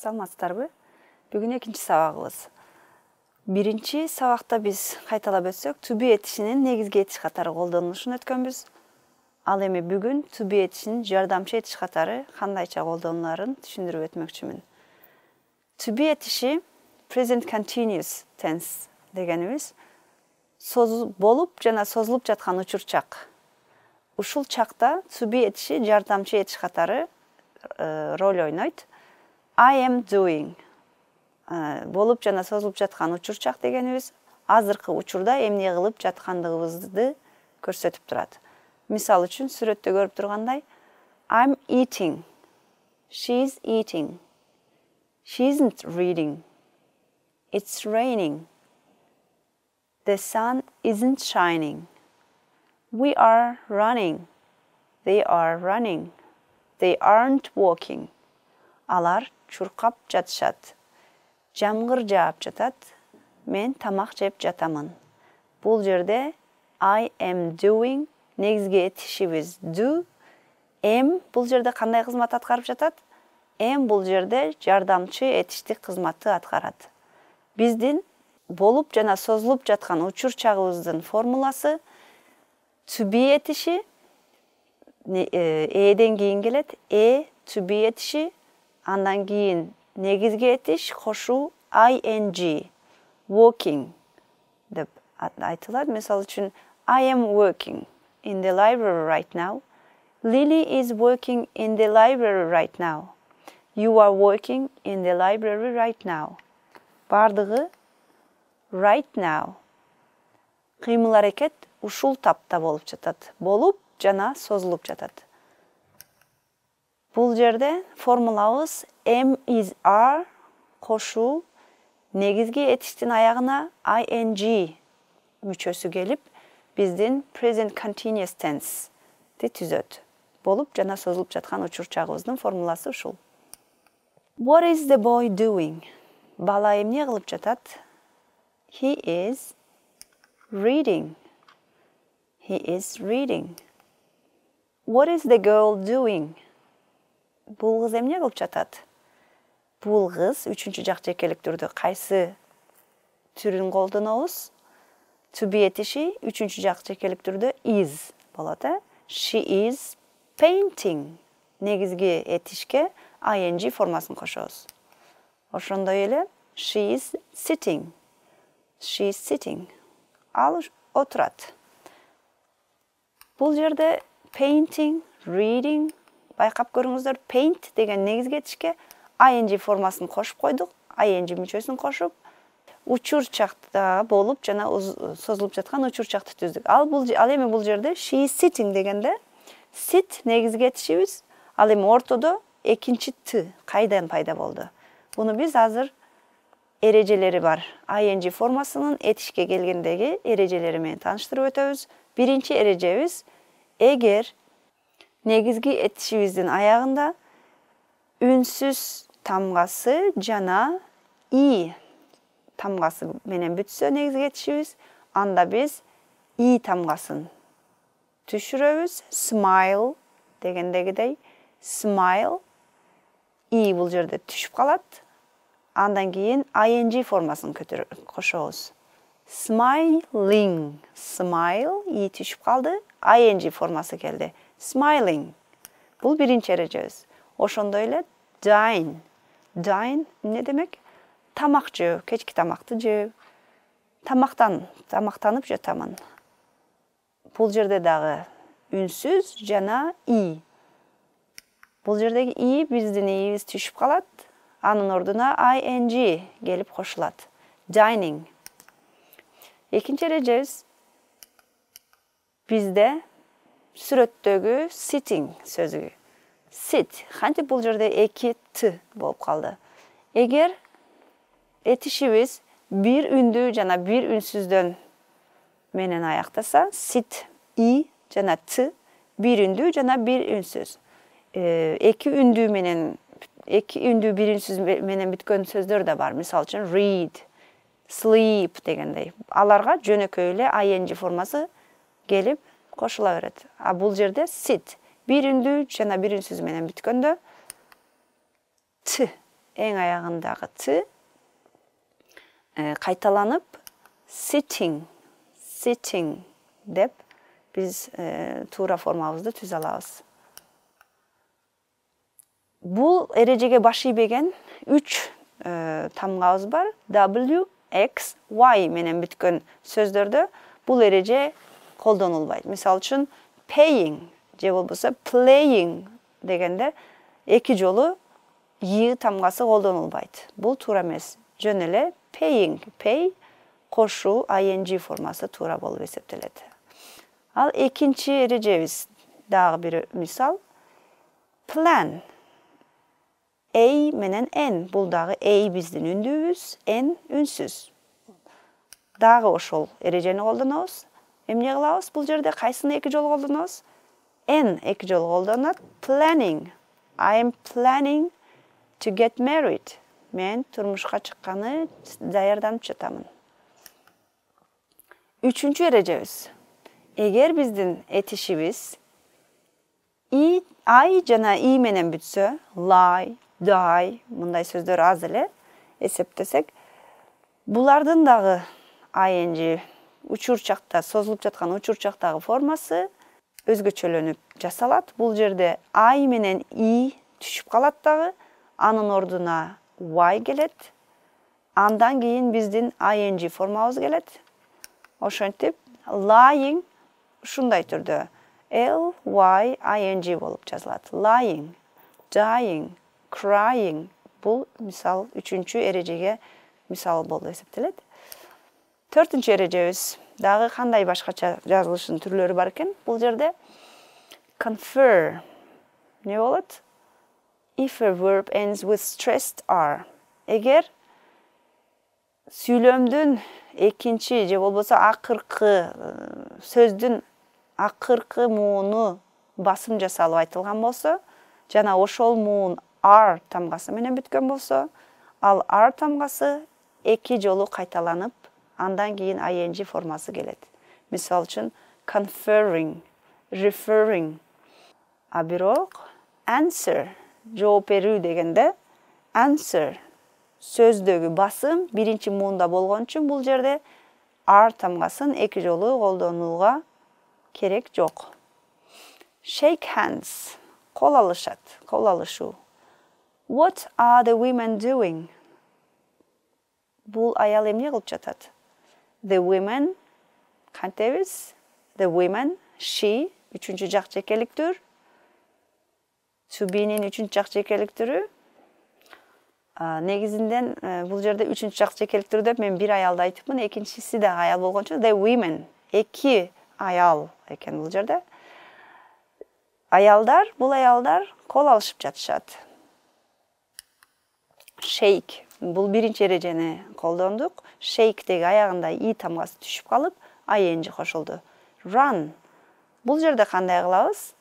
Саламатсыздарбы? Бүгүн экинчи сабагыбыз. Биринчи сабакта биз кайталап өтсөк, to be этишинин негизги этиш катары колдонулушун өткөнбүз. Ал эми бүгүн to be этишинин жардамчы этиш катары кандайча колдонуларын түшүндүрүп өтмөкчүмүн. To be этиши present continuous tense дегенибиз болуп жана созулуп жаткан учурчак. Ушул чакта to be этиши жардамчы этиш катары роль ойнойт. I am doing. Болуп жана созулуп жаткан учурчак дегенибиз азыркы учурда эмне кылып жаткандыгыбызды көрсөтүп турат. Мисалы үчүн сүрөттө көрүп тургандай I'm eating. She's eating. She isn't reading. It's raining. The sun isn't shining. We are running. They are running. They aren't walking. Алар чуркап жатышат. Жамгыр жаап жатат. Мен тамак жеп жатамын. Бул жерде I am doing негизги этишибиз do. Am бул жерде кандай кызмат аткарып жатат? Am бул жерде жардамчы этиштик кызматты аткарат. Биздин болуп жана созулуп жаткан учурчагыбыздын формуласы to be этиши эден кийин келет. To be этиши андан кийин негизги этиш кошуу ing working деп айтылат. Мисалы үчүн I am working in the library right now. Lily is working in the library right now. You are working in the library right now. Бардыгы right now. Кыймыл аракет ушул тапта болуп жатат. Болуп жана созулуп жатат. Бул жерде формулабыз am is are кошуу негизги этиштин аягына ing мүчөсү келип, биздин present continuous tense түзөт. Болуп жана созулуп жаткан учурчагыбыздын формуласы ушул. What is the boy doing? Бала эмне кылып жатат? He is reading. He is reading. What is the girl doing? Бул кыз эмне кылып жатат? Бул кыз үчүнчү жак жекелик түрдө кайсы түрүн колдонобуз? To be этиши үчүнчү жак жекелик түрдө is болот. She is painting. Негизги этишке ing формасын кошобуз. Ошондой эле she is sitting. She is sitting. Ал отурат. Бул жерде painting, reading байкап көрүңүздөр. Paint деген негизги этишке ing формасын кошуп койдук. Ing мүчөсүн кошуп, учурчакта болуп жана созулуп жаткан учурчакты түздүк. Ал эми бул жерде she is sitting дегенде sit негизги этишибиз. Ал эми ортодо экинчи t кайдан пайда болду? Буну биз азыр эрежелери бар. ing формасынын этишке келгендеги эрежелери менен тааныштырып өтөбүз. Биринчи эрежебиз эгер негизги этишибиздин аягында үнсүз тамгасы жана и тамгасы менен бүтсө негизги этишибиз, анда биз и тамгасын түшүрөбүз. Smile дегендегидей smile и бул жерде түшүп калат. Андан кийин ing формасын кошобуз. Smiling. Smile и түшүп калды. ing формасы келди. Smiling. Бул биринчи эрежебиз. Ошондой эле dine. Dine эмне демек? Тамак жөө, кечки тамакты жөө. Тамактанып жатамын. Бул жерде дагы үнсүз жана и. Бул жердеги и биздин иибиз түшүп калат. Анын ордуна ing келип кошулат. Dining. Экинчи эрежебиз бизде сүрөттөгү sitting сөзү. Sit. Кантип бул жерде эки т болуп калды. Эгер этишибиз бир үндүү жана бир үнсүздөн менен аяктаса, sit и жана т, бир үндүү жана бир үнсүз. Эки үндүү бир үнсүз менен бүткөн сөздөр да бар. Мисалы үчүн read, sleep дегендей. Аларга жөнөкөй эле ing формасы келип кошула берет. А бул жерде sit бир үндүү жана бир үнсүз менен бүткөндө т эң аягындагы t кайталанып sitting деп биз туура формабызды түзө алабыз. Бул эрежеге баш ийбеген 3 тамгабыз бар. W, X, Y менен бүткөн сөздөрдө бул эреже колдонулбайт. Мисалы үчүн paying же болбосо playing дегенде эки жолу y тамгасы колдонулбайт. Бул туура эмес. Жөн эле paying, pay кошуу ing формасы туура болуп эсептелет. Ал экинчи эрежебиз дагы бир мисал. Plan. A менен N. Бул дагы A биздин үндүүбүз, N үнсүз. Дагы ошол эрежени колдонобуз. Эмне кылабыз? Бул жерде кайсыны эки жолу колдонобуз? N эки жолу колдонот. Planning. I am planning to get married. Мен турмушка чыкканы даярданып жатамын. Үчүнчү эрежебиз. Эгер биздин этишибиз I жана I менен бүтсө, lie, die, мындай сөздөр аз эле эсептесек, булардын дагы ing учурчакта, созулуп жаткан учурчактагы формасы өзгөчөлөнүп жасалат. Бул жерде I менен I түшүп калат дагы, анын ордуна Y келет. Андан кийин биздин ing формабыз келет. Ошентип, lying ушундай түрдө L-Y-I-N-G болуп жазылат. Lying, dying, crying. Бул мисал үчүнчү эрежеге мисал болуп эсептелет. Төртүнчү эрежебиз. Дагы кандай башкача жазылышынын түрлөрү бар экен? Бул жерде confer. Не болот? If a verb ends with stressed R. Эгер сүйлөмдүн экинчи же болбосо акыркы сөздүн акыркы мууну басым жасалып айтылган болсо, жана ошол муун R тамгасы менен бүткөн болсо, ал R тамгасы эки жолу кайталанып, андан кийин ing формасы келет. Мисалы үчүн conferring, referring. А бирок answer, жооп берүү дегенде answer сөздөгү басым биринчи муунда болгон үчүн бул жерде R тамгасын эки жолу колдонууга керек жок. Shake hands. Кол алышат, кол алышуу. What are the women doing? Бул аял эмне кылып жатат? The women, кантебиз? The women, she, үчүнчү жак жекеликтүр. To be'нин үчүнчү жак жекеликтүрү. Негизинден бул жерде үчүнчү жак жекеликтүр деп мен бир аялды айтыпмын, экинчиси да аял болгон үчүн the women, эки аял экен бул жерде. Бул аялдар кол алышып жатышат. Shake, бул биринчи эрежени колдондук. Shake деги аягында I тамгасы түшүп калып, ing кошулду. Run. Бул жерде кандай кылабыз?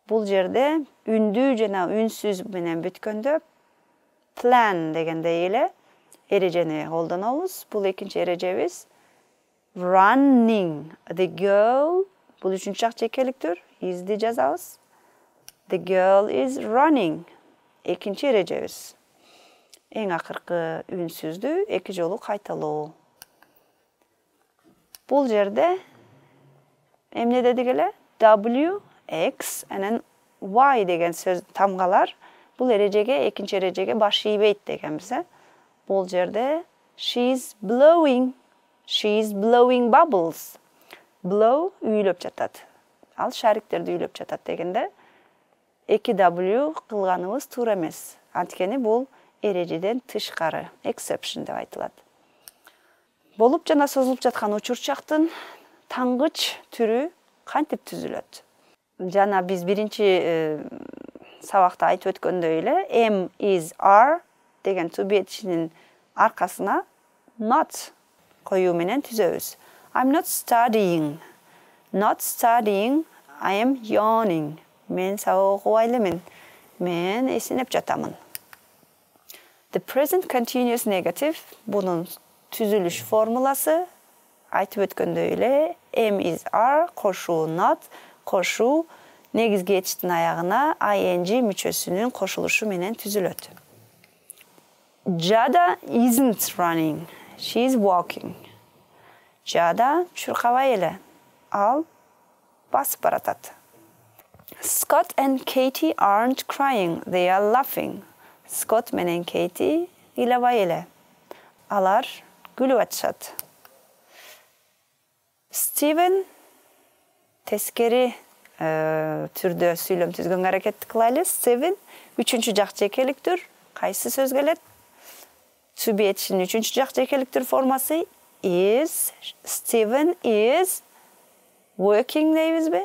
Бул жерде үндүү жана үнсүз менен бүткөндө plan дегендей эле эрежени колдонобуз. Бул экинчи эрежебиз. Running. The girl. Бул үчүнчү жак жекеликтүр. Is'ди жазабыз. The girl is running. Экинчи эрежебиз. Эң акыркы үнсүздү эки жолу кайталоо. Бул жерде эмне дедик эле? W, X, and Y деген сөз тамгалар бул эрежеге, экинчи эрежеге баш ийбейт дегенбиз. Бул жерде she's blowing bubbles. Blow үйлөп жатат. Ал шариктерди үйлөп жатат дегенде эки W кылганыбыз туура эмес. Анткени бул эрежеден тышкары, exception деп айтылат. Болуп жана созулуп жаткан учурчактын тангыч түрү кантип түзүлөт? Жана биз биринчи сабакта айтып өткөндөй эле am, is, are деген to be этишинин аркасына not коюу менен түзөбүз. I'm not studying. Not studying, I am yawning. Мен сабак окубай элемин. Мен эсинеп жатамын. The present continuous negative, бунун түзүлүш формуласы айтып өткөндөй эле am, is, are кошуу not, кошуу негизги этиштин аягына ing мүчөсүнүн кошулушу менен түзүлөт. Jada isn't running. She's walking. Jada чуркабай эле. Ал басып баратат. Scott and Katie aren't crying. They are laughing. Scott менен Katie ыйлабай эле. Алар күлүп атышат. Steven тескери түрдө сүйлөм түзгөнгө аракет кылайлы. Steven үчүнчү жак жекеликтүр. Кайсы сөз келет? To be этишинин үчүнчү жак жекеликтүр формасы is. Steven is working дейбизби?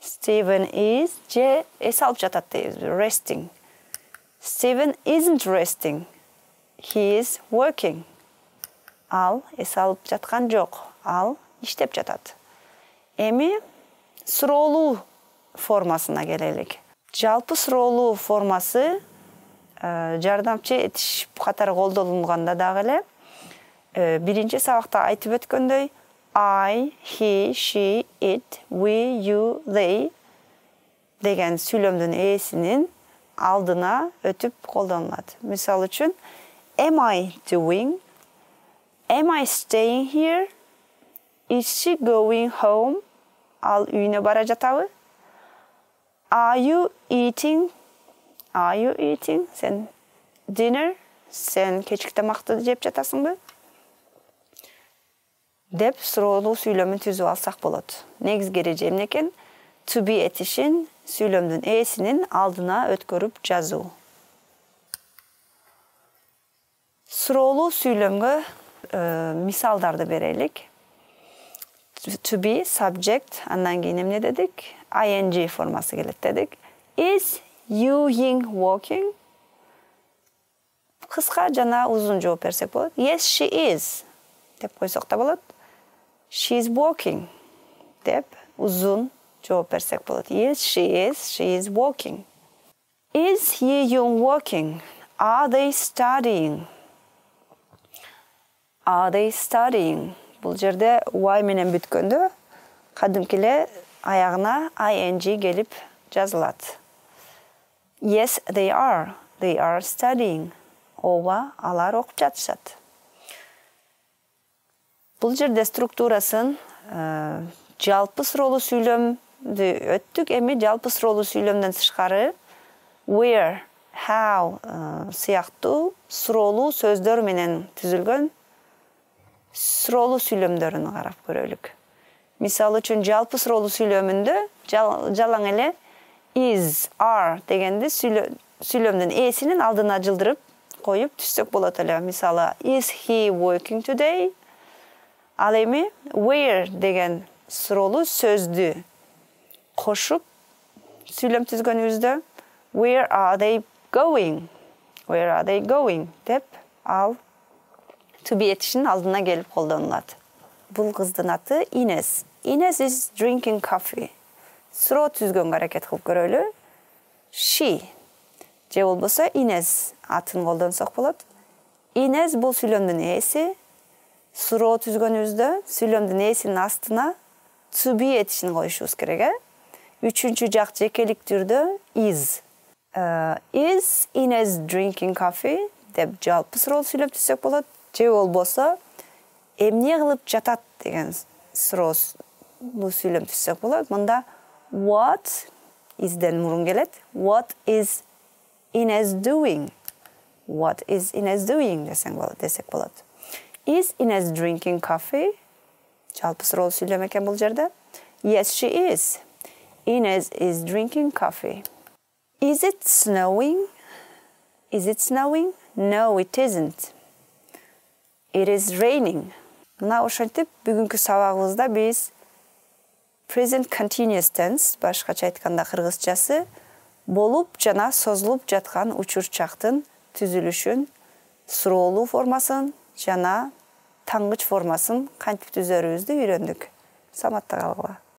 Steven is же эс алып жатат дейбизби? Resting. Steven isn't resting. He is working. Ал эс алып жаткан жок. Ал иштеп жатат. Эми суроолуу формасына келелик. Жалпы суроолуу формасы жардамчы этиш катары колдонулганда дагы эле биринчи сабакта айтып өткөндөй I, he, she, it, we, you, they деген сүйлөмдүн ээсинин алдына өтүп колдонулат. Мисалы үчүн am I doing? Am I staying here? Is she going home? Ал үйүнө бара жатабы? Are you eating? Are you eating? Sen dinner? Sen кечки тамакты жеп жатасыңбы? Деп суроолуу сүйлөмүн түзүп алсак болот. Негизги эреже эмне экен? To be этишин сүйлөмдүн ээсинин алдына өткөрүп жазуу. Суроолуу сүйлөмгө мисалдарды берелик. To be subject, андан кийин эмне дедик? ing формасы келет дедик. Is you walking? Кыска жана узун жооп берсек болот. Yes, she is. Деп койсок да болот. She is walking. Деп узун жооп берсек болот. Yes, she is walking. Is he walking? Are they studying? Are they studying? Бул жерде y менен бүткөндө кадимки эле аягына ing келип жазылат. Yes, they are. They are studying. Ооба, алар окуп жатышат. Бул жерде структурасын жалпы суроолуу сүйлөмдү өттүк. Эми жалпы суроолуу сүйлөмдөн тышкары where, how сыяктуу суроолуу сөздөр менен түзүлгөн суроолуу сүйлөмдөрүн карап көрөлүк. Мисалы үчүн жалпы суроолуу сүйлөмүндө жалаң эле is, are дегенди сүйлөмдүн ээсинин алдына жылдырып коюп түзсөк болот эле. Мисалы is he working today? Ал эми where деген суроолуу сөздү кошуп сүйлөм түзгөнүбүздө where are they going? Where are they going? Деп ал to be этишинин алдына келип колдонулат. Бул кыздын аты Ines. Ines is drinking coffee. Суроо түзгөнгө аракет кылып көрөлү. She. Же болбосо Ines атын колдонсок болот. Ines бул сүйлөмдүн ээси. Суроо түзгөнүбүздө сүйлөмдүн ээсинин астына to be этишин коюшубуз керек. Үчүнчү жак жекелик түрдө is. Is Ines drinking coffee? Деп жалпы суроо сүйлөп түзсөк болот. Же болбосо эмне кылып жатат деген суроолуу сүйлөм түзсөк болот. Мында what isден мурун келет. What is Ines doing? What is Ines doing десек болот. Is Ines drinking coffee? Жалпы суроолуу сүйлөм экен бул жерде. Yes, she is. Ines is drinking coffee. Is it snowing? Is it snowing? No, it isn't. It is raining. Мына ошентип бүгүнкү сабагыбызда биз present continuous tense, башкача айтканда кыргызчасы, болуп жана созулуп жаткан учурчактын түзүлүшүн, суроолуу формасын жана таңгыч формасын кантип түзөрүбүздү үйрөндүк. Саламатта калгыла.